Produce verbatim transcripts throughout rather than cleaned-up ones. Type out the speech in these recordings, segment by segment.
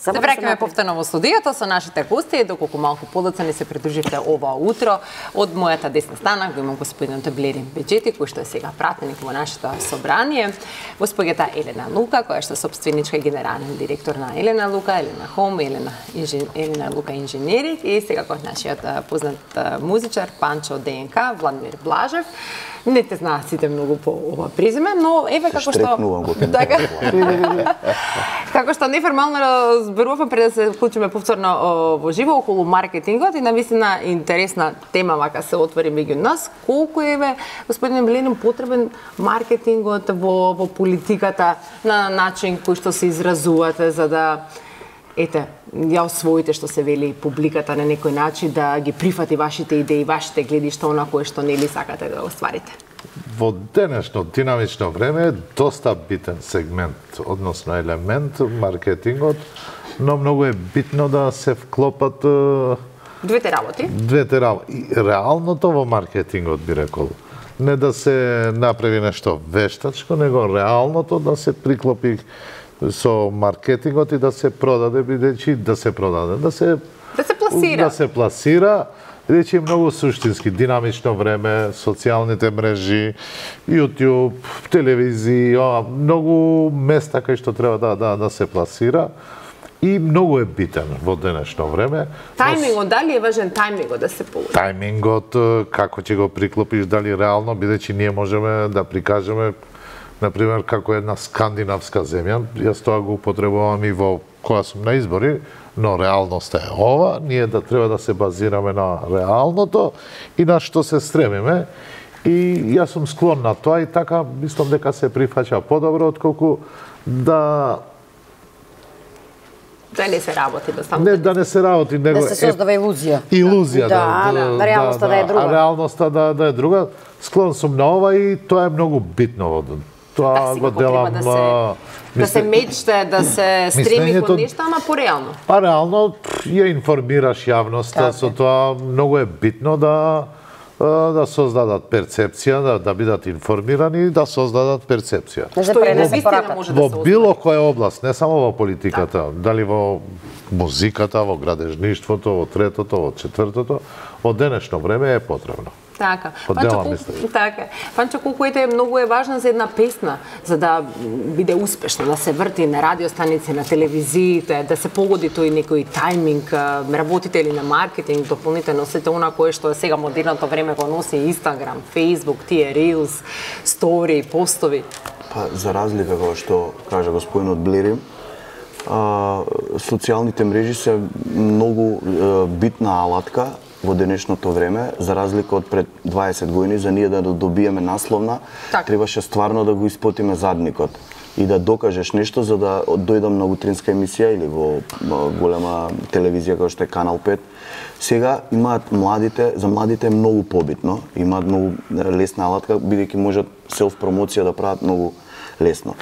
Се враќаме повторно во студиото со нашите гости, доколку малку подоцна ни се придруживте ова утро. Од мојата десна страна го имам господинот Блерин Беџети, кој што е сега пратеник во нашето собрание, госпоѓата Елена Лука, која што е сопственичка и генерален директор на Елена Лука, Елена Хом, Елена, инжен... Елена Лука инженеринг и сега кој нашиот познат музичар Панчо ДНК, Владимир Блажев. Не те знаат сите многу по ова презиме, но еве како што така, како што неформално разберувавме пред да се вклучиме повторно во живо околу маркетингот и навистина интересна тема вака се отвори меѓу нас. Колку е, господин Блерин, потребен маркетингот во, во политиката на начин кој што се изразувате за да ете, ја освоите што се вели публиката на некој начин да ги прифати вашите идеи, вашите гледишта, она кое што нели сакате да остварите? Во денешно динамично време е доста битен сегмент, односно елемент маркетингот, но многу е битно да се вклопат двете работи. Двете работи. Реалното во маркетингот би рекол. Не да се направи нешто вештачко, него реалното да се приклопи со маркетингот и да се продаде, бидејќи да се продаде, да се да се пласира. Да се пласира, бидејќи е многу суштински, динамично време, социјалните мрежи, YouTube, телевизија, многу места кај што треба да да да се пласира и многу е битен во денешно време. Тајмингот, дали е важен тајмингот да се получи? Тајмингот, како ќе го приклопиш, дали реално, бидејќи ние можеме да прикажеме например, како една скандинавска земја, јас тоа го употребувам и во кога сум на избори, но реалноста е ова, ние да треба да се базираме на реалното и на што се стремиме. И јас сум склон на тоа и така мислам дека се прифаќа подобро отколку да да не се работи, да само не да не се работи, него да се создава илузија. Илузија, да, да, да, реалноста да, да, да е друга. А реалноста да да е друга. Склон сум на ова и тоа е многу битно во тоа да, го делам. Да се, да се мечте, да се стреми кон нешто, ама пореално. Па реално ја информираш јавноста, со тоа многу е битно да да создадат перцепција, да, да бидат информирани и да создадат перцепција. Што е навистина може да се во било која област, не само во политиката, да. Дали во музиката, во градежништвото, во третото, во четвртото, во денешно време е потребно. Така. Панчо, колку, така. Панчо, колку ете многу е важна за една песна, за да биде успешна, да се врти на радиостаници, на телевизиите, да се погоди тој некој тајминг, работите ли на маркетинг, дополнително сите она кое што е сега модерното време го носи Инстаграм, Фејсбук, тие Reels, стори, постови. Па за разлика кога што кажа господинот Блерин, а, социјалните мрежи се многу а, битна алатка во денешното време, за разлика од пред дваесет години, за ние да добиеме насловна, так. Требаше стварно да го испотиме задникот и да докажеш нешто за да дојдам на утринска емисија или во голема телевизија како што е Канал пет. Сега имаат младите, за младите е многу побитно, имаат многу лесна алатка, бидејќи можат селф промоција да прават многу лесно.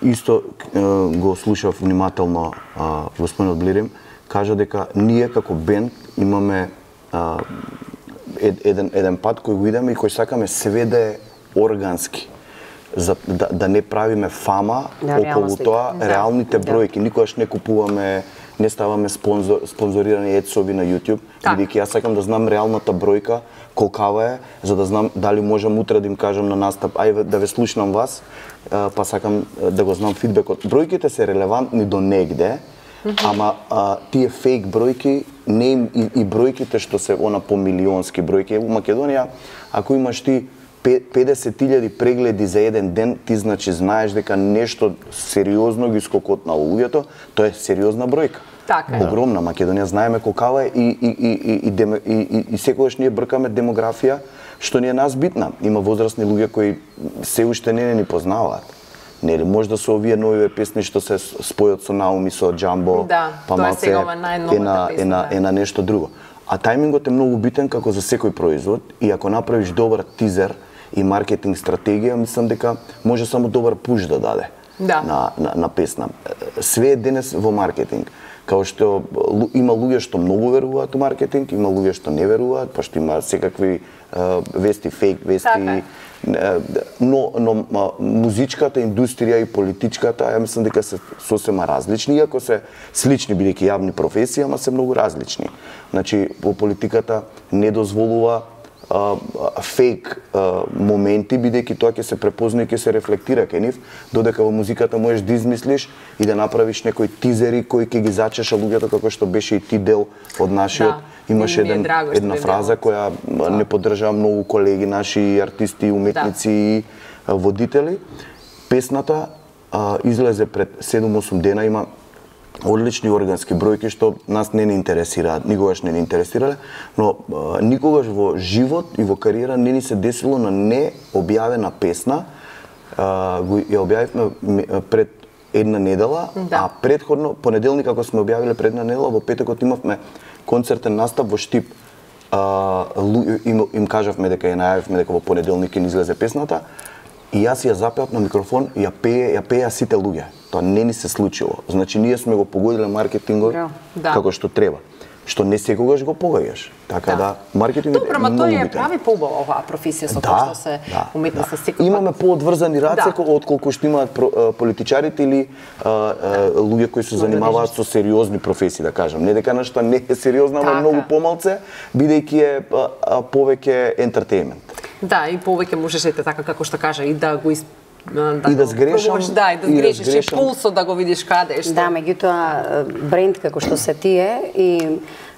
Исто го слушав внимателно господинот Блерин, кажа дека ние како бенд имаме Uh, ед, еден, еден пат кој го идеме и кој сакаме све да е органски. За, да, да не правиме фама да, околу тоа, да. Реалните бројки. Никогаш не купуваме, не ставаме спонзор, спонзорирани ецови на YouTube, бидејќи јас сакам да знам реалната бројка, колкава е, за да знам дали можам утре да им кажам на настап, ај да ве слушнам вас, па сакам да го знам фидбекот. Бројките се релевантни до негде, Mm -hmm. ама а, тие фейк бројки не и, и бројките што се она по милионски бројки во Македонија, ако имаш ти педесет илјади прегледи за еден ден, ти значи знаеш дека нешто сериозно ги скокотнало луѓето, тоа е сериозна бројка. Така. Огромна. Македонија знаеме колкава е и и и и и, и, и, и секогаш ние бркаме демографија што ни е нас битна. Има возрастни луѓе кои се уште не ни познаваат. Нели, може да се овие нови песни што се спојат со Науми, со Джамбо, да, па малце е на, е, на, е на нешто друго. А тајмингот е многу битен како за секој производ и ако направиш добар тизер и маркетинг стратегија, мислам дека може само добар пуш да даде да. на, на, на песна. Све е денес во маркетинг. Као што има луѓе што многу веруваат у маркетинг, има луѓе што не веруваат, пошто има секакви uh, вести, фейк вести. Но, но музичката индустрија и политичката, ја мислам дека се сосема различни, иако се слични бидејќи јавни професии, ама се многу различни. Значи, во политиката не дозволува а, а, фейк а, моменти, бидејќи тоа ќе се препозна и ќе се рефлектира кај нив, додека во музиката можеш да измислиш и да направиш некои тизери кои ќе ги зачеша луѓето, како што беше и ти дел од нашиот. Да. Имаше еден, една фраза која да. не поддржаа многу колеги, наши артисти, уметници и да. водители. Песната а, излезе пред седум-осум дена, има одлични органски бројки што нас не ни интересираат, никогаш не ни интересирале, но а, никогаш во живот и во кариера не ни се десило на необјавена песна. А, го ја објавивме пред една недела, да. а предходно понеделник ако сме објавиле пред една недела, во петокот имавме концертен настап во Штип. А, им, им кажавме дека ја најавивме дека во понеделник ќе ни излезе песната и јас ја запеав на микрофон и ја пее, ја пееа сите луѓе. Тоа не ни се случило. Значи ние сме го погодиле маркетингот да. како што треба. Што не секогаш го погаѓаш. Така да, да маркетингот Добро, ма тој е прави поубава оваа професија со да, тоа што се да, уметноста да. секогаш. Имаме поодврзани раце да. отколку што имаат политичарите или а, а, луѓе кои се занимаваат со сериозни професии, да кажам. Не дека нешто не е сериозно, ама многу помалце, бидејќи е а, а, повеќе ентертејмент. Да, и повеќе можеш ете така како што кажа и да го из Да, и да сгрешам, да, и да сгрешиш, и, и пулсот да го видиш каде е што. Да, меѓутоа бренд како што се тие и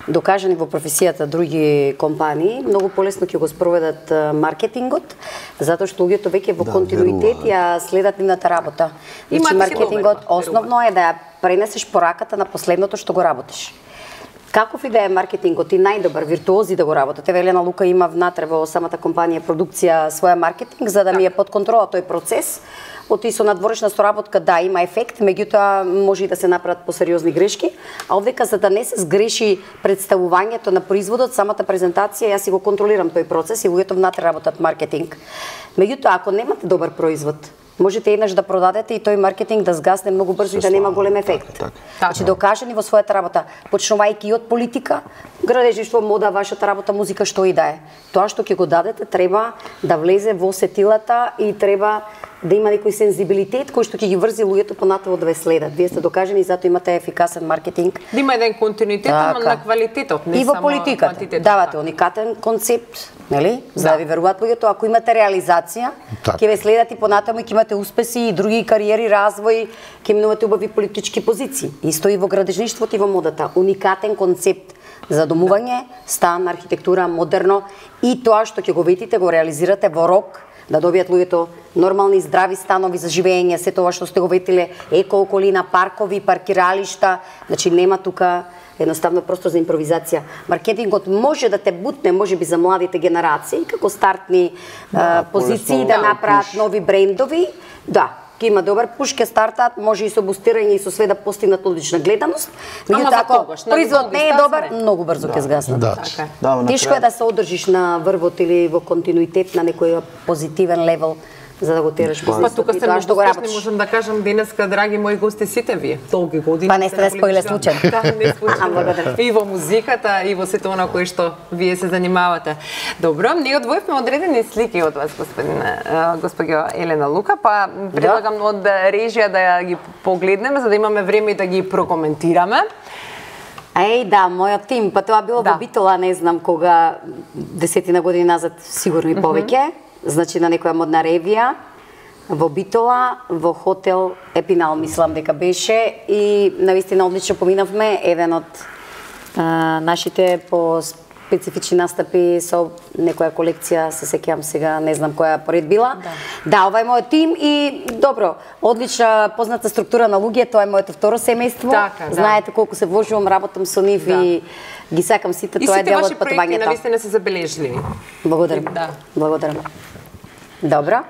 докажани во професијата други компании, многу полесно ќе го спроведат маркетингот, затоа што луѓето веќе во да, континуитет ја следат нивната работа. Значи маркетингот основно е да ја пренесеш пораката на последното што го работиш. Каков и да е маркетингот и најдобар виртуози да го работат. Еве Елена Лука има внатре во самата компанија продукција своја маркетинг за да ми е под контрола тој процес. Оти со надворешна соработка да има ефект, меѓутоа може и да се направат посериозни грешки, а овдека за да не се сгреши представувањето на производот, самата презентација, јас си го контролирам тој процес и луѓето внатре работат маркетинг. Меѓутоа ако немате добар производ, можете еднаш да продадете и тој маркетинг да сгасне многу брзо и да нема голем ефект. Така, така. Значи докажани во својата работа, почнувајќи од политика, градежништво, мода, вашата работа, музика, што и да е. Тоа што ќе го дадете треба да влезе во сетилата и треба да има некој сензибилитет кој што ќе ги врзи луѓето понатово да ве следат. Вие сте докажани и затоа имате ефикасен маркетинг. Да има еден континуитет, ама на квалитетот, не и во само политиката. Давате уникатен концепт, нели? За да ви веруваат луѓето, ако имате реализација, ќе ве следат и понатаму и ќе имате успеси и други кариери, развој, ќе минувате убави политички позиции. Исто и во градежништвото и во модата. Уникатен концепт за домување, стан, архитектура, модерно и тоа што ќе го видите, го реализирате во рок, да добијат луѓето нормални здрави станови за живење, се тоа што сте го ветиле, еко околина, паркови, паркиралишта, значи нема тука едноставно простор за импровизација. Маркетингот може да те бутне, можеби за младите генерации, како стартни да, а, позиции да направат нови брендови, да, ќе има добар пуш, ќе стартаат, може и со бустирање и со све да постигнат одлична гледаност. Меѓутоа ако производ не е добар, многу брзо ќе згасне. Да. Да, тешко е да се одржиш на врвот или во континуитет на некој позитивен левел за да го тераш бизнисот. Па тука сте многу успешни, можам да кажам денеска, драги мои гости, сите вие, долги години. Па не сте споиле случајно. Да, не случајно. И во музиката, и во сето она кое што вие се занимавате. Добро, ние одвоивме одредени слики од вас, господин госпоѓо Елена Лука, па предлагам од режија да ја ги погледнеме, за да имаме време и да ги прокоментираме. Еј, да, мојот тим, па тоа било да. во Битола, не знам кога, десетина години назад, сигурно и повеќе. Mm -hmm. Значи на некоја модна ревија во Битола, во хотел Епинал, мислам дека беше, и навистина одлично поминавме. Еден од а, нашите по специфични настапи со некоја колекција, се сеќавам сега, не знам која поред била. Да, да, ова е мојот тим и добро, одлична позната структура на луѓе, тоа е моето второ семејство. Така, да. Знаете колку се вложувам, работам со нив да. и ги сакам сите, тоа е дел од патувањето. И сите ваши проекти навистина се забележливи. Благодарам. Да. Благодарам. Добро.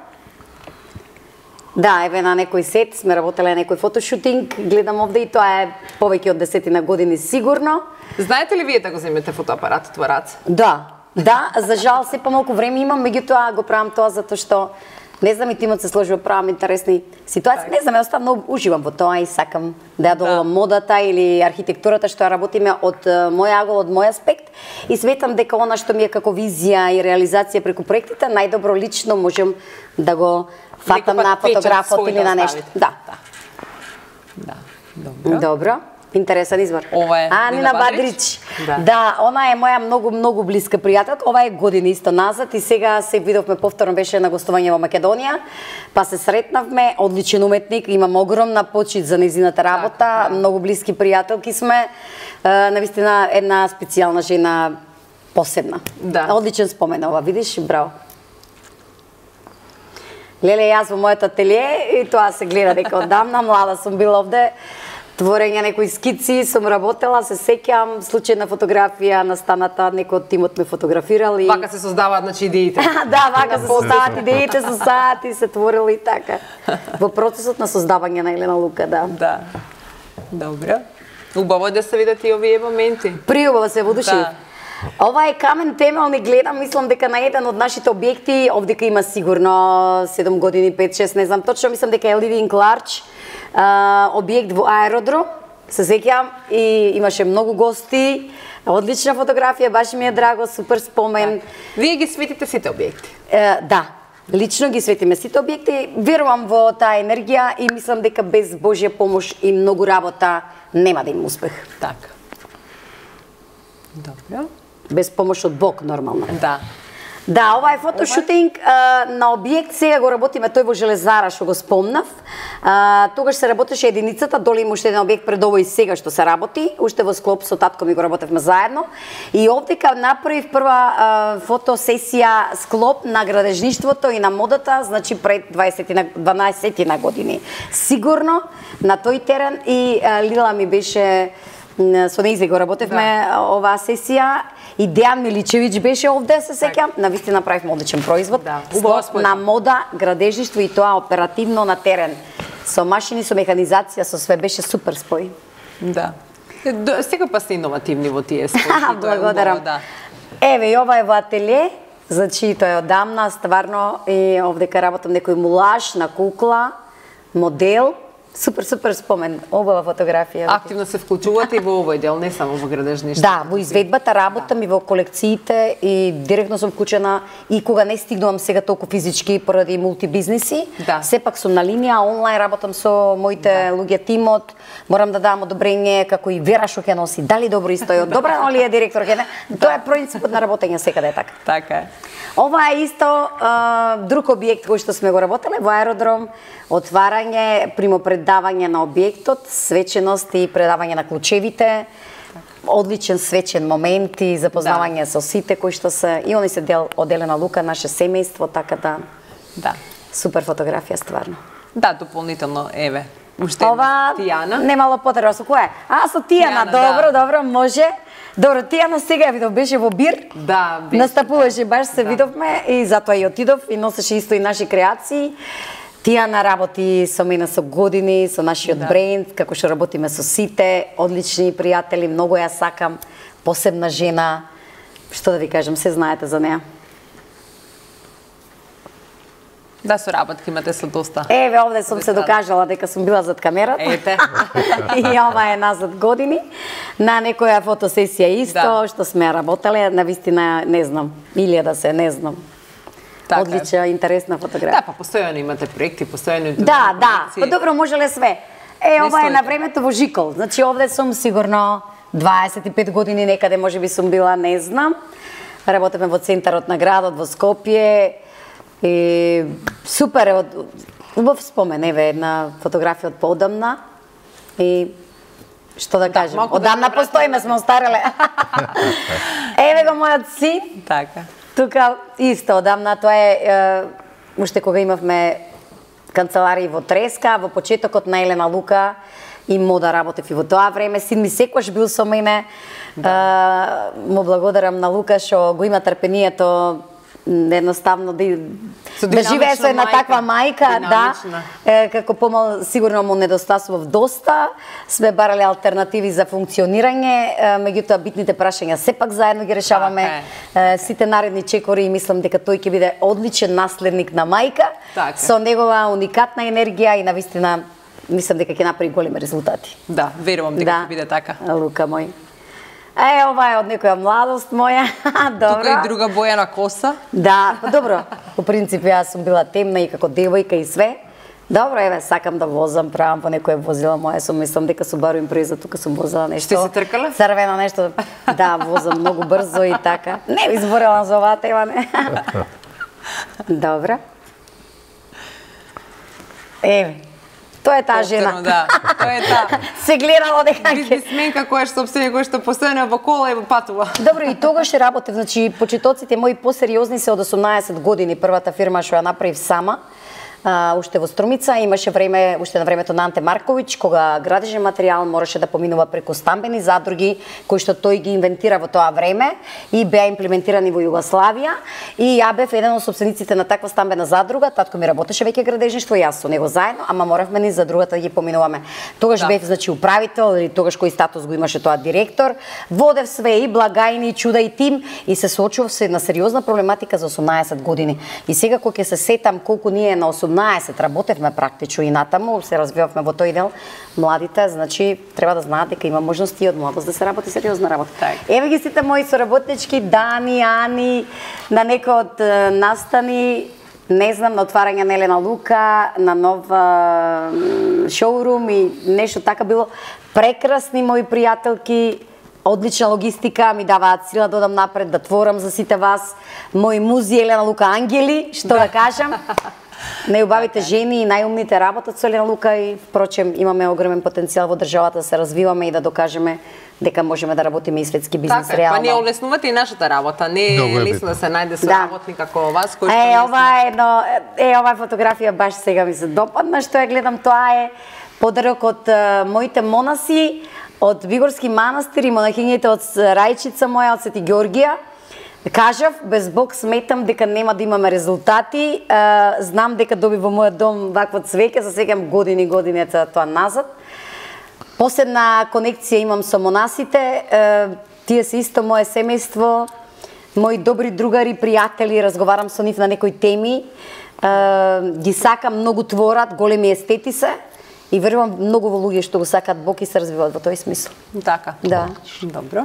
Да, еве на некој сет сме работеле на некој фотошутинг, гледам овде и тоа е повеќе од десетина години сигурно. Знаете ли вие да го земете фотоапаратот во раце? Да, да, за жал се помалку време имам, меѓутоа го правам тоа затоа што Не знам и тимот се сложи во правам интересни ситуации. Не знам, јас многу уживам во тоа и сакам да ја доловам да. модата или архитектурата што ја работиме од мој агол, од мој аспект и сметам дека она што ми е како визија и реализација преку проектите, најдобро лично можем да го фатам на фотографот или на нешто. Да. Да. Добро. Добро. Интересен избор. Ова е а, Нина Бадрич. Да. да, она е моја многу многу блиска пријателка. Ова е години исто назад и сега се видовме повторно, беше на гостување во Македонија. Па се сретнавме, одличен уметник, имам огромна почит за незината работа, так, да. Многу блиски пријателки сме. Е, навистина една специјална жена, посебна. Да. Одличен спомен ова, видиш, браво. Леле, јас во мојот ателие и тоа се гледа дека одамна, млада сум била овде. Творење некои скици, сум работела, се сеќам, случајна фотографија на станата, некој од тимот ме фотографирал и... Вака се создаваат, значи, идеите. да, вака се создаваат идеите, со сати се творили и така. Во процесот на создавање на Елена Лука, да. Да. Добро. Убаво да се видат и овие моменти. Приубаво се во души. Да. Ова е камен темел, не гледам, мислам дека на еден од нашите објекти, овдека има сигурно седум години, пет шест, не знам точно, мислам дека е Living Large, објект во аеродром, се сеќавам и имаше многу гости, одлична фотографија, баш ми е драго, супер спомен. Так. Вие ги светите сите објекти? Е, да, лично ги светиме сите објекти, верувам во таа енергија и мислам дека без Божја помош и многу работа нема да има успех. Така. Добро. Без помош од Бог, нормално. Да. Да, ова е фотошутинг а, на објект, сега го работиме тој во Железара, што го спомнав. А, тогаш се работеше единицата, доле има уште еден објект пред овој сега што се работи, уште во склоп со татко ми го работевме заедно. И овдека направив прва а, фотосесија склоп на градежништвото и на модата, значи пред дванаесет на години. Сигурно на тој терен и а, Лила ми беше со нејзе го работевме да. оваа сесија. И Дејан Миличевиќ беше овде, се сеќам. Навистина направивме одличен производ. Да, Склоп на мода, градежништво и тоа оперативно на терен. Со машини, со механизација, со све беше супер спој. Да. Сега па се иновативни во тие спои. Благодарам. Да. Еве, и ова е во ателие. Значи, тоа е одамна, стварно, и овдека работам некој мулаж на кукла, модел. Супер, супер спомен, обава фотографија. Активно се вклучувате и во овој дел, не само во градежништво. Да, во изведбата работам да. и во колекциите и директно сум вклучена и кога не стигнувам сега толку физички поради мултибизнеси, да. сепак сум на линија, онлайн работам со моите да. луѓе тимот, морам да дам одобрение како и Вера што ќе носи, дали добро истојот, добра ли е директор ќе не, тоа е принципот на работење секаде е така. Така е. Ова е исто а, друг објект кој што сме го работеле во аеродром, отварање, примопредавање на објектот, свеченост и предавање на клучевите, одличен свечен момент и запознавање да. со сите кои што се, и они се дел од Елена Лука, наше семејство, така да, да. супер фотографија стварно. Да, дополнително, еве, уште ова Тијана. Немало потреба, со која? А, со Тијана, Тијана добро, да. добро, може. Добро, Тијана сега ја видов, беше во Бир, да, беше, настапуваше, баш се да. видовме и затоа и отидов и носеше исто и наши креации. Тијана работи со мене со години, со нашиот да. бренд, како што работиме со сите, одлични пријатели, многу ја сакам, посебна жена, што да ви кажам, се знаете за неа. Да, соработки имате со доста. Еве, овде сум се докажала дека сум била зад камерата. Ете. И ова е назад години. На некоја фотосесија исто, да. што сме работеле, навистина не знам, илјада да се, не знам. Така. Одлична, интересна фотографија. Да, па постојано имате проекти, постојано Да, да, па добро можеле све. Е, не ова е на времето во Жикол. Значи овде сум сигурно дваесет и пет години некаде, можеби сум била, не знам. Работевме во центарот на градот во Скопје. И супер е, убав спомен, еве една фотографија од поодамна. И што да, да кажем, одамна да постоиме, сме остареле. Еве го мојот син. Така. Тука исто одамна, тоа е, е уште кога имавме канцеларии во Треска, во почетокот на Елена Лука и мода работев и во тоа време. Син ми секојаш бил со мене. Да. Е, му благодарам на Лука што го има трпението едноставно да, Со да живее со една мајка, таква мајка, да, е, како помал сигурно му недостасував доста, сме барале алтернативи за функционирање, е, меѓутоа битните прашања сепак заедно ги решаваме, е, сите наредни чекори и мислам дека тој ќе биде одличен наследник на мајка, така. Со негова уникатна енергија и навистина мислам дека ќе направи големи резултати. Да, верувам дека да. ќе биде така. Лука мој. Е, ова е од некоја младост моја. Добро. Тука и друга боја на коса. Да, добро. По принцип јас сум била темна и како девојка и све. Добро, еве, сакам да возам, правам по некое возила моја, сум мислам дека Subaru Impreza, тука сум возела нешто. Што се тркале? Црвено нешто. Да, возам многу брзо и така. Не ви зборела за оваа тема, не. Добро. Еве. Тоа е таа жена. Да, тоа е таа. Се гледало дека бизнесменка која што собствено која што постојано во кола и патува. Добро, и тогаш работев, значи почетоците мои посериозни се од осумнаесет години, првата фирма што ја направив сама. Uh, уште во Струмица, имаше време, уште на времето на Анте Марковиќ, кога градежен материјал мораше да поминува преку стамбени задруги, кои што тој ги инвентира во тоа време и беа имплементирани во Југославија. И ја бев еден од собствениците на таква стамбена задруга, татко ми работеше веќе градежништво, јас со него заедно, ама моравме ни задрugата да ги поминуваме. Тогаш да. Бев, значи, управител, или тогаш кој статус го имаше тоа директор, водев све и благајни, и чуда и тим, и се соочував со една сериозна проблематика за осумнаесет години. И сега кога ќе се сетам колку ние на осумнаесет работевме практично и натаму, се развивавме во тој дел, младите, значи, треба да знаат дека има можности од младост да се работи сериозна работа. Так. Еве ги сите мои соработнички, Дани, Ани, на некој од настани, не знам, на отварање на Елена Лука, на нов шоурум и нешто така било. Прекрасни мои пријателки, одлична логистика, ми даваат сила да одам напред, да творам за сите вас. Мои музи Елена Лука ангели, што да, да кажам. Најубавите жени и најумните работат со Елена Лука и впрочем имаме огромен потенцијал во државата да се развиваме и да докажеме дека можеме да работиме и светски бизнес така, реално. Па не олеснувате и нашата работа, не е лесно да се најде со да. работник како вас кој што Е, ова е едно, е оваа фотографија баш сега ми се допадна што ја гледам, тоа е подарок од uh, моите монаси од Вигорски манастир и монахињите од Рајчица моја од Свети Ѓоргија. Кажав, без Бог сметам дека нема да имаме резултати. Uh, знам дека доби во мојот дом вакво цвеќе, се сеќам години години тоа назад. Посебна конекција имам со монасите, uh, тие се исто мое семејство, мои добри другари, пријатели, разговарам со нив на некои теми. Uh, ги сакам, многу творат, големи естети се и верувам многу во луѓе што го сакаат Бог и се развиваат во тој смисла. Така. Да. Добро.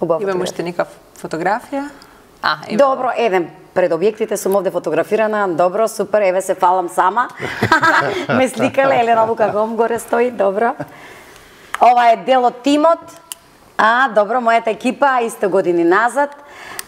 Убаво. Имаме уште некав фотографија. А, ево. Добро, еден пред објектите сум овде фотографирана. Добро, супер, еве се фалам сама. Ме сликале, Елена Лука Гом горе стои, добро. Ова е дел од тимот. А, добро, мојата екипа, исто години назад.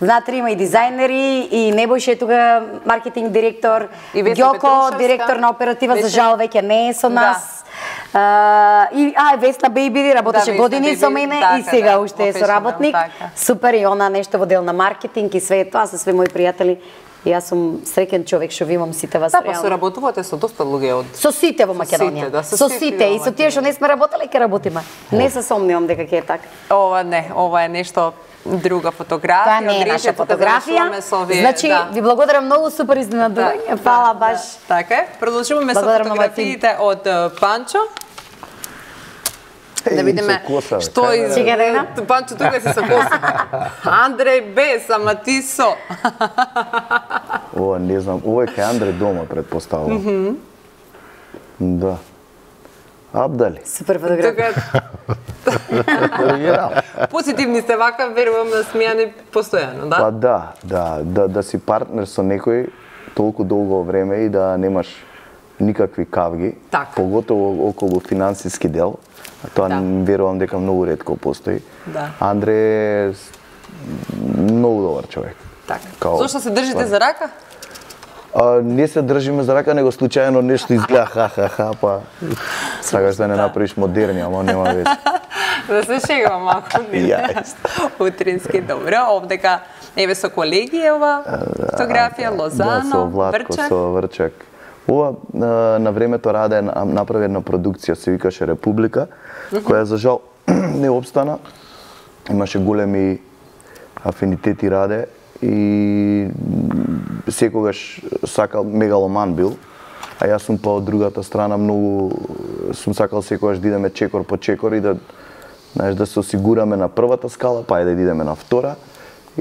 Внатре има и дизајнери, и Небојше е тука маркетинг директор, Ѓоко, директор на оператива, Весна... за жал веќе не е со нас. Да. А, и а Весна Бейбиди работеше да, години Бейбиди, со мене така, и сега да, уште е соработник. Така. Супер, и она нешто во дел на маркетинг и све тоа се све мои пријатели. И јас сум среќен човек што ви имам сите вас. Да, па соработувате со доста луѓе од со сите во Македонија. Со сите, да, со, со сите и со тие што не сме работеле ќе работиме. Не се сомневам дека ќе е така. Ова не, ова е нешто друга фотографија. Тоа не е наша фотографија. Овие, значи, да. Ви благодарам многу, супер изненадување. Да, Фала да, баш. Да. Така е. Продолжуваме со фотографиите од Панчо. Да видиме што и Панчо тука си со коса. Андреј без, ама ти со. Ова не знам, ова е кај Андреј дома предпоставувам. Mm -hmm. Да. Абдали. Супер фотографија. Позитивни сте вака, верувам да смејани постојано, да? Па да, да, да, да си партнер со некој толку долго време и да немаш никакви кавги, так. Поготово околу финансиски дел. Тоа да. Верувам дека многу ретко постои. Да. Андре е многу добар човек. Така. Као... Зошто се држите па... за рака? А, не се држиме за рака, него случајно нешто изгледа ха-ха-ха, па сакаш да не направиш модерни, ама нема веќе. Да се шегувам малку. Утрински, добро. Овдека, еве со колеги ова фотографија, Лозано, да, со Владко, Врчак. Со Врчак. Ова на времето раде направи една продукција, се викаше Република, uh -huh. која за жал не обстана. Имаше големи афинитети раде и секогаш сакал мегаломан бил, а јас сум па од другата страна многу сум сакал секогаш да идеме чекор по чекор и да знаеш да се осигураме на првата скала, па и да идеме на втора.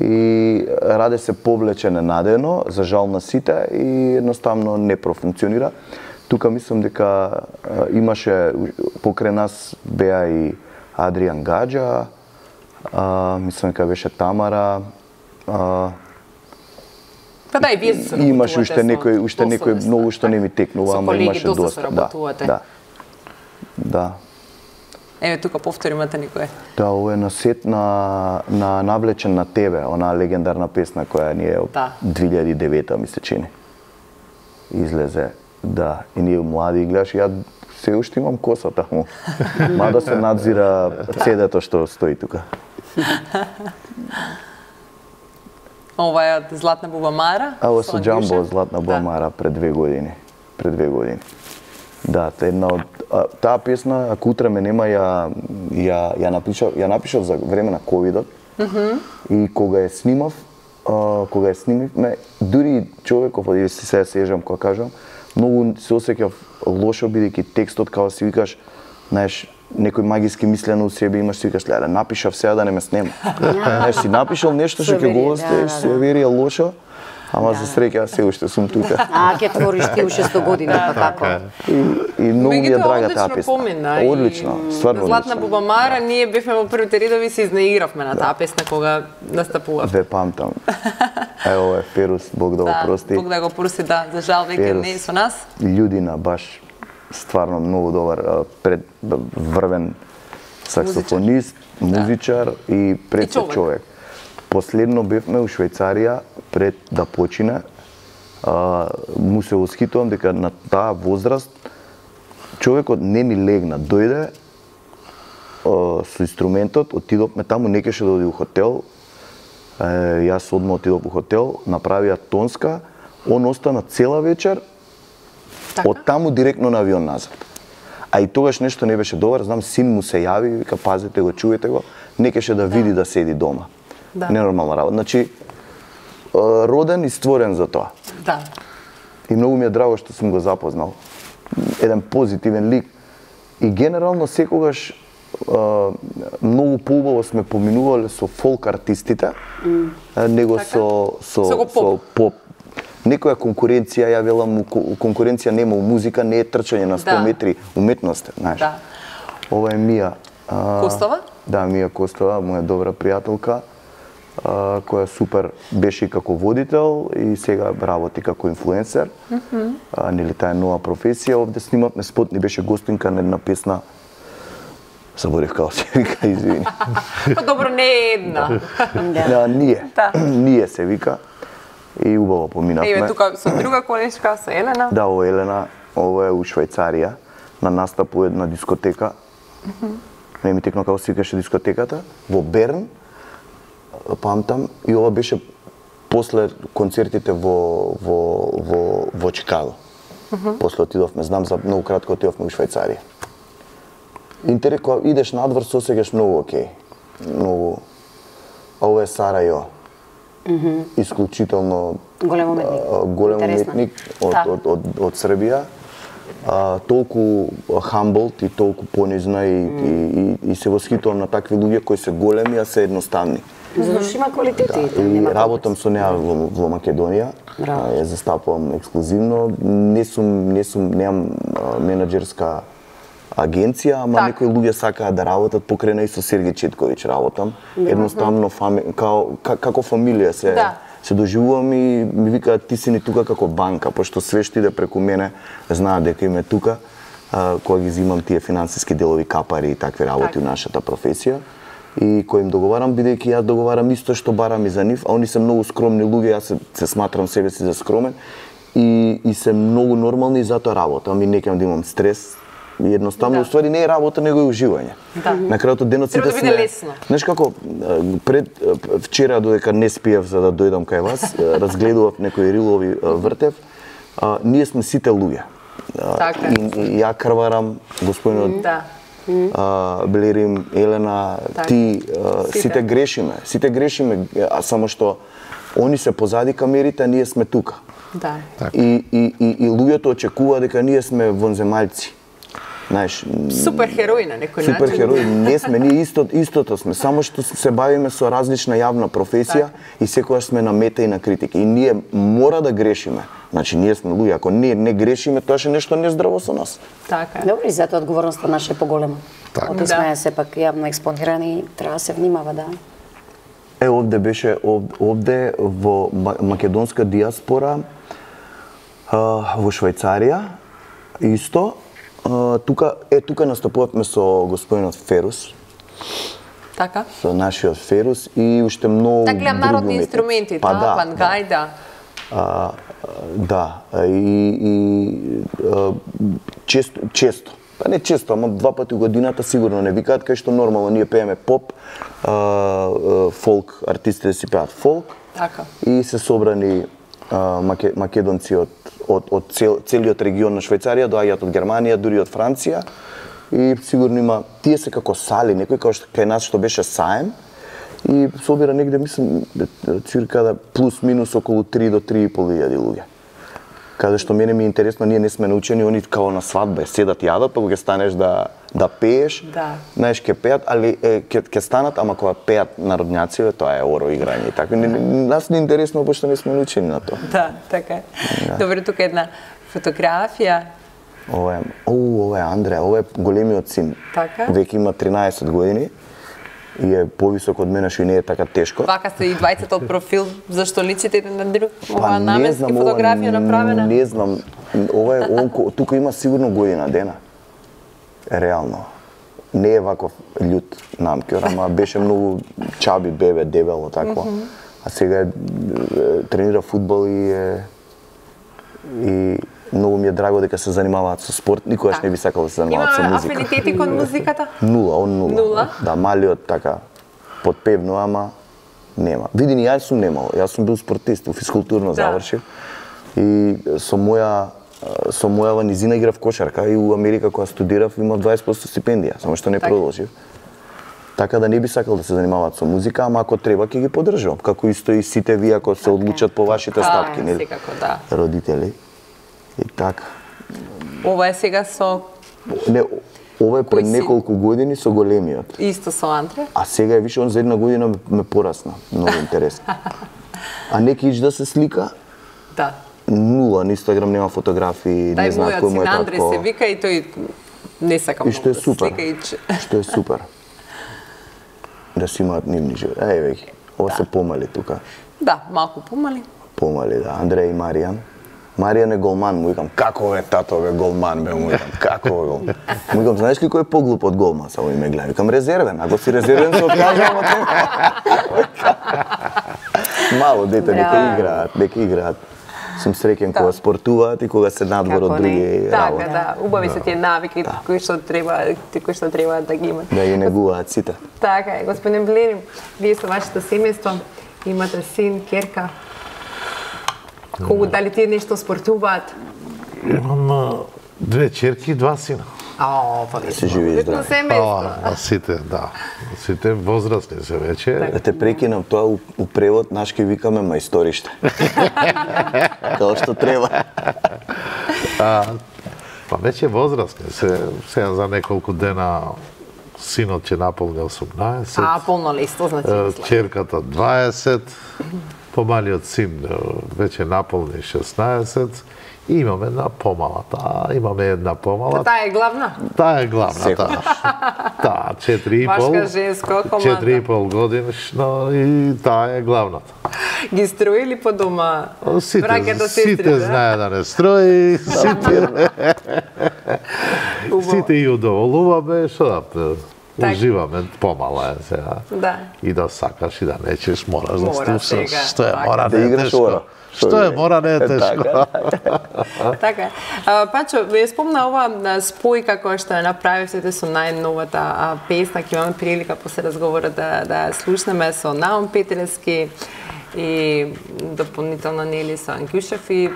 И Раде се повлече ненадено, за жал на сите и едноставно не профункционира. Тука мислам дека имаше покрај нас беа и Адриан Гаджа, а, мислам дека беше Тамара. А, Па да, и вие се имаше уште некој, уште некој многу што не ми текнува, ама имаше доста. Да, да. Да. Еве тука повторимате никој. Да, ова е на сет на на Навлечен на тебе, она легендарна песна која ни е од да. две илјади и девета ми се чини. Излезе, да, и ние млади и гледаш, ја се уште имам косата му. Мада се надзира цедето што стои тука. Ова е од Златна Бубамара? А, ова со Джамбо од Златна Бубамара пред две години. Пред две години. Да, та една од а, таа песна, ако утре ме нема, ја ја ја напишав, ја напишав за време на ковидот. Mm-hmm. И кога ја снимав, а, кога ја снимивме, дури човеков, оди си се сежам кога кажам, многу се осеќав лошо бидејќи текстот као си викаш, знаеш, некој магиски мислено у себе имаш, си викаш, леле, напишав сега да не ме снема. Знаеш, си напишал нешто што ќе го оставиш, се верија лошо, ама за среќа се уште сум тука. А, ќе твориш ти уште сто години, па како? И, и многу ми е драга таа песна. Одлично, стварно Златна одлично. Бубамара, ние бевме во првите редови, се изнеигравме на таа песна кога настапував. Ве памтам. Ево е Ферус, Бог да го прости. Бог да го прости, да, за жал веќе не е со нас. Људина баш стварно многу добар пред врвен саксофонист, музичар и пред се човек. Последно бевме у Швајцарија пред да почине. А, му се восхитувам дека на таа возраст човекот не ми легна, дојде а, со инструментот, отидовме таму, не кеше да оди у хотел. Е, јас одма отидов у хотел, направија тонска, он остана цела вечер. Така? Од таму директно на авион назад. А и тогаш нешто не беше добар, знам, син му се јави, вика, пазете го, чуете го, не кеше да види да, да седи дома. Да. Ненормална работа. Значи, роден и створен за тоа. Да. И многу ми е драго што сум го запознал. Еден позитивен лик. И генерално секогаш а, многу поубаво сме поминувале со фолк артистите, mm. него така? со, со, со, со поп. Некоја конкуренција, ја велам, конкуренција нема у музика, не е трчање на сто да. метри, уметност, знаеш. Да. Ова е Мија. А, Костова? Да, Мија Костова, моја добра пријателка, а, која супер беше и како водител и сега работи како инфлуенсер. Mm -hmm. а, нели таа е нова професија. Овде снимавме спот, ни беше гостинка на една песна. Заборев како се вика, извини. Па добро, не е една. Да, ние. Ние се вика. И убаво поминавме. Еве тука со друга колешка, со Елена. Да, о Елена, ова е у Швајцарија, на настап у една дискотека. Mm -hmm. Не ми текно како се викаше дискотеката, во Берн, памтам, и ова беше после концертите во во во во Чикаго. Mm -hmm. После отидовме, знам за многу кратко отидовме у Швајцарија. Интерес, кога идеш надвор, се осеќаш многу окей. Многу. А ова е Сарајо. Mm -hmm. Исклучително голем уметник, а, голем уметник од, да. од, од, од Србија. А, толку хамблд и толку понизна и, mm. и, и, и се восхитувам на такви луѓе кои се големи, а се едноставни. Затоа што има квалитети. Да, и работам со неа во, во Македонија. Браво. Ја застапувам ексклузивно. Не сум, не сум, немам менаџерска агенција, ама так. Некои луѓе сакаат да работат покрај и со Сергеј Четковиќ работам. Да. Едноставно фами... као, како фамилија се да. Се доживувам и ми викаат ти си ни тука како банка, пошто све што иде преку мене знаат дека им е тука, а, кога ги зимам тие финансиски делови капари и такви работи так. У нашата професија. И кој им договарам, бидејќи јас договарам исто што барам и за нив, а они се многу скромни луѓе, јас се, се сматрам себе си за скромен и, и се многу нормални и затоа работам и не ќе да имам стрес. И едноставно, да. Уствари не е работа, него е уживање. Да. На крајот од денот сите сме... лесно. Знаеш како, пред вчера додека не спиев за да дојдам кај вас, разгледував некои рилови вртев, а, ние сме сите луѓе. Така. И, и ја крварам, господинот да. а, Блерим, Елена, така. Ти, а, сите. сите грешиме, сите грешиме, а само што Они се позади камерите, а ние сме тука. Да. И, и, и, и луѓето очекува дека ние сме вонземајци. Знаеш, Суперхерои на некој начин. суперхерои, не сме, ние исто, истото сме, само што се бавиме со различна јавна професија и секогаш сме на мета и на критика. И ние мора да грешиме. Значи, ние сме луѓе, ако ние не грешиме, тоа е нешто нездраво со нас. Така. Добро, и затоа одговорноста наша е поголема. Така. Ото сме сепак јавно експонирани, треба да се внимава, да. Е, овде беше, овде во македонска диаспора, во Швајцарија, исто, тука, е, тука настапувавме со господинот Ферус, Така. со нашиот Ферус и уште многу Така гледам народни други инструменти, па, да, пангајда. А, да, и, и а, често, често, па не често, ама два пати у годината сигурно не викаат, кај што нормално ние пееме поп, а, а, фолк, артистите си пеат фолк. Така. И се собрани а, маке, македонци од, од, од цел, целиот регион на Швајцарија, доаѓаат од Германија, дури од Франција. И сигурно има, тие се како сали, некој како што кај нас што беше саем. И собира негде, мислам, цирка да плюс минус околу три до три и пол илјади луѓе. Каде што мене ми е интересно, ние не сме научени, они као на свадба, седат јадат, па кога ќе станеш да да пееш, Да. знаеш, ќе пеат, али ќе ќе станат, ама кога пеат народњаци, тоа е оро играње и така. Не, не, нас не е интересно, пошто не сме научени на тоа. Да, така е. Добре, тука е една фотографија. Ова е, оу, ова е Андреа, ова е големиот син. Така. Веќе има тринаесет години и е повисок од мене, што и не е така тешко. Вака се и двајцата од профил, зашто личите еден на друг? Ова Па, наменски фотографија направена? Не знам, ова е, он, тука има сигурно година дена. Реално. Не е ваков љут намкер, ама беше многу чаби, бебе, дебело, такво. А сега е, тренира фудбал и е, и многу ми е драго дека се занимаваат со спорт. Никогаш не би сакал да се занимаваат со Има музика. афинитети кон музиката? Нула, он нула. Нула? Да, малиот така подпевно, ама нема. Види, ни јас сум немал. Јас сум бил спортист, физкултурно Да. завршив. И со моја со мојава низина играв кошарка и у Америка кога студирав имав дваесет проценти стипендија, само што не Така. продолжив. Така да не би сакал да се занимаваат со музика, ама ако треба ќе ги поддржувам. Како исто и сите вие ако се одлучат по вашите стапки, нели? Секако, да. Родители. И така. Ова е сега со Не, ова е Кој пред си? неколку години со големиот. исто со Андре. А сега е више, он за една година ме, ме порасна. Многу интересно. А неки ич да се слика? Да. Нула, на Инстаграм нема фотографии, Тај не знаат мојот кој му син е Андре татко. се вика и тој не сака И што е многу да супер. слика ич. Што е супер. Да си имаат нивни живот. Еј, веќе, ова се помали тука. Да, малку помали. Помали, да. Андреј и Маријан. Маријан е голман, му викам, како е тато бе голман, бе, му викам, како е голман. Му викам, знаеш ли кој е поглуп од голман, само и ме гледа. Викам, резервен, ако си резервен се откажам од тебе. Мало дете, нека Браво. играат, нека играат. Сум среќен кога спортуваат и кога се надвор од Како други не. Така, работи. да, убави се тие навики кои што треба, кои што треба да ги имат. Да ги негуваат сите. Така е, господин Блерим, вие со вашето семејство имате син, керка. Колку дали тие нешто спортуваат? Имам а, две черки и два сина. А, па вие Се живи и сте здрави. семејство. А, а сите, да. Сите возрастни се веќе. Да те прекинам, тоа у, у превод наш ке викаме мајсториште. Тоа што треба. А, па веќе возрастни се, сега за неколку дена синот ќе наполни осумнаесет. А, полнолетство, значи. Е, мислам. Черката дваесет, помалиот син е, веќе наполни шеснаесет и имаме една помала. Таа, имаме една помала. Таа е главна? Таа е главната. Таа, четири и пол. Башка женска команда. четири и пол годишна и таа е главната. Ги строили по дома? Сите, Браќата, сите сестри, да? знае да не строи, сите, Убаво. сите и удоволуваме, што да Так. уживаме, помала е сега. Да. И да сакаш и да нечеш, мораш да Мора слушаш. сега, Што е така. мора, Да не е играш тешко. ора. Што е мора, не е тешко. Така е. А, Пачо, ве спомна ова а, спојка која што ја направивте со најновата а, песна, ќе имаме прилика после разговорот да, да слушнеме со Наум Петревски и дополнително нели со Ангјушев и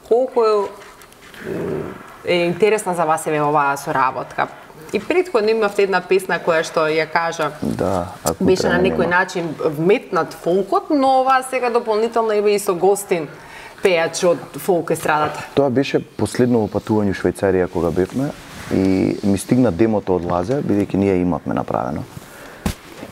колку е, м, е интересна за вас еве оваа соработка. И претходно имавте една песна која што ја кажа, Да, ако беше на некој нема. начин вметнат фолкот, но ова сега дополнително има и со гостин пејач од фолк естрадата. Тоа беше последно патување во Швајцарија кога бевме и ми стигна демото од Лазе, бидејќи ние имавме направено.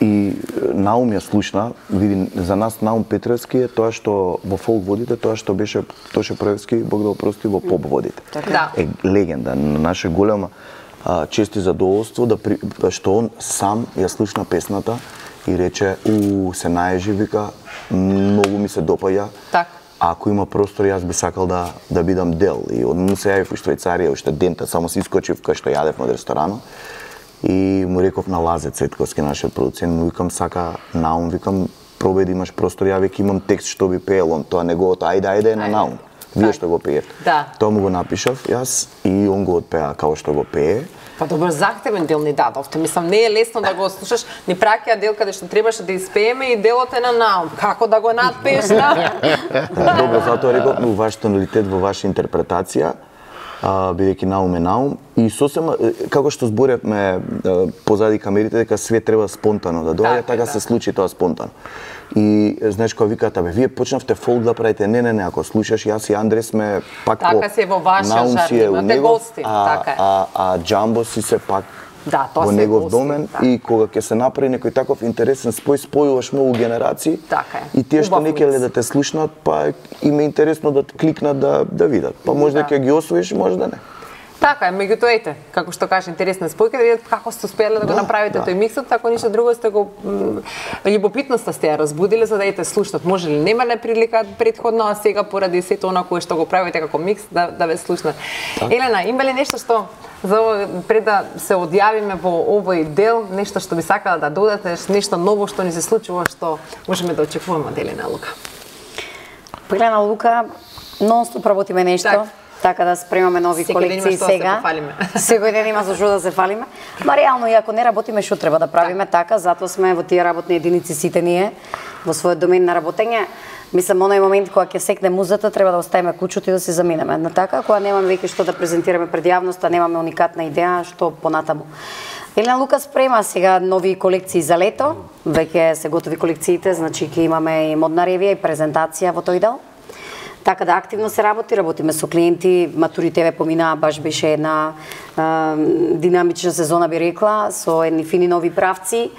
И Наум ја слушна, види, за нас Наум Петревски е тоа што во фолк водите, тоа што беше Тоше Проевски, Бог да опрости, во поп водите. Да. Е легенда, на наше голема а, чест и задоволство да при, што он сам ја слушна песната и рече, у се наежи, вика, многу ми се допаѓа. Така. Ако има простор, јас би сакал да да бидам дел. И од му се јавив во Швајцарија, уште дента, само се искочив кај што јадев од ресторанот. И му реков на Лазе Цветковски, нашиот продуцент, му викам, сака Наум, викам, пробај да имаш простор, ја веќе имам текст што би пеел, он тоа неговото, ајде, ајде, е на Наум. Вие што го пеете. Да. Тоа му го напишав јас и он го отпеа како што го пее. Па добро, захтевен дел ни дадовте. Мислам, не е лесно да го слушаш. Ни праќа дел каде што требаше да испееме и делот е на Наум. Како да го надпееш на? Добро, затоа реков во ваш тоналитет, во ваша интерпретација, а, бидејќи Наум е Наум. И сосема, како што зборевме позади камерите, дека све треба спонтано да доаѓа, Така, така да. се случи тоа спонтано. И знаеш кога викаат, абе, вие почнавте фолк да правите, не, не, не, ако слушаш, јас и Андре сме пак Така во си е во вашиот Наум жанр, си е у имате негов, гости, а, така е. а, а Джамбо си се пак Да, тоа во се негов гости, домен да. и кога ќе се направи некој таков интересен спој, спојуваш многу генерации. Така е. И тие што Убав не ќе микс. да те слушнат, па им е интересно да кликнат да да видат. Па може да Да. ќе ги освоиш, може да не. Така е, меѓутоа ете, како што кажа, интересна спојка, да видат како сте успеале да го Да, направите да. тој миксот, ако ништо друго сте го м, љубопитноста сте ја разбудиле за да ете слушнат. Може ли немале прилика предходно, а сега поради сето она кое што го правите како микс да да ве слушнат. Елена, има ли нешто што за ово, пред да се одјавиме во овој дел, нешто што би сакала да додате, нешто ново што ни се случува што можеме да очекуваме од Елена Лука? Елена Лука, нон-стоп работиме нешто. Так. Така да спремаме нови Секој ден колекции има што да се сега. пофалиме. Секој ден има за што да се фалиме. Ма реално и ако не работиме што треба да правиме, така, затоа сме во тие работни единици сите ние во својот домен на работење. Мислам, оној момент кога ќе секне музата, треба да оставиме кучото и да се заминеме. На така, кога немаме веќе што да презентираме пред јавноста, немаме уникатна идеја, што понатаму. Елена Лука спрема сега нови колекции за лето. Веќе се готови колекциите, значи ќе имаме и модна ревија и презентација во тој дел. Така да активно се работи, работиме со клиенти, Матури ТВ поминаа, баш беше една а, динамична сезона би рекла, со едни фини нови правци.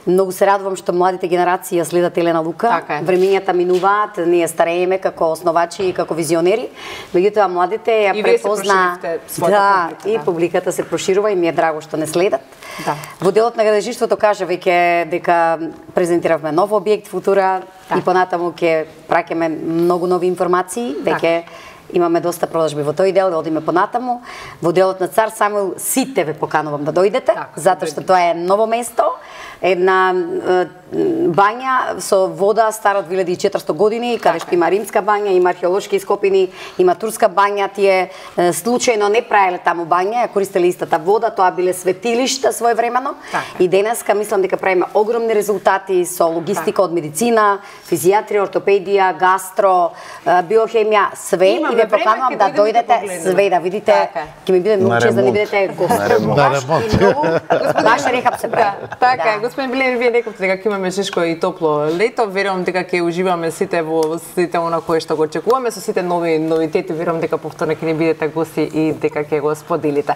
Многу се радувам што младите генерации ја следат Елена Лука. Така е. Времењата минуваат, ние старееме како основачи и како визионери, меѓутоа младите ја И вие се препозна, проширивте својата да, публика, и да. публиката се проширува и ми е драго што не следат. Да. Во делот на гадежиштвото кажа веќе дека презентиравме нов објект Футура Да. и понатаму ќе праќаме многу нови информации, веќе имаме доста продажби во тој дел, да одиме понатаму. Во делот на Цар Самуил сите ве поканувам да дојдете, Така, затоа што тоа е ново место, една е, бања со вода стара од две илјади и четиристотини години, каде што има римска бања, има археолошки ископини, има турска бања, тие е, случајно не правеле таму бања, ја користеле истата вода, тоа биле светилишта своевремено. Така. И денеска мислам дека правиме огромни резултати со логистика од медицина, физијатрија, ортопедија, гастро, е, биохемија, све. Имаме И ве време, поканувам ќе да дојдеме да дојдете погледнеме. све да видите. Така е. Ќе ми биде многу На чест да ни ремонт. бидете гост. На ремонт. На ремонт. И многу баш рехап се прави. Да, така е. Да. Господин Билер, вие рековте дека ќе имаме тешко и топло лето. Верувам дека ќе уживаме сите во сите она кое што го очекуваме со сите нови новитети. Верувам дека повторно ќе ни бидете гости и дека ќе го споделите.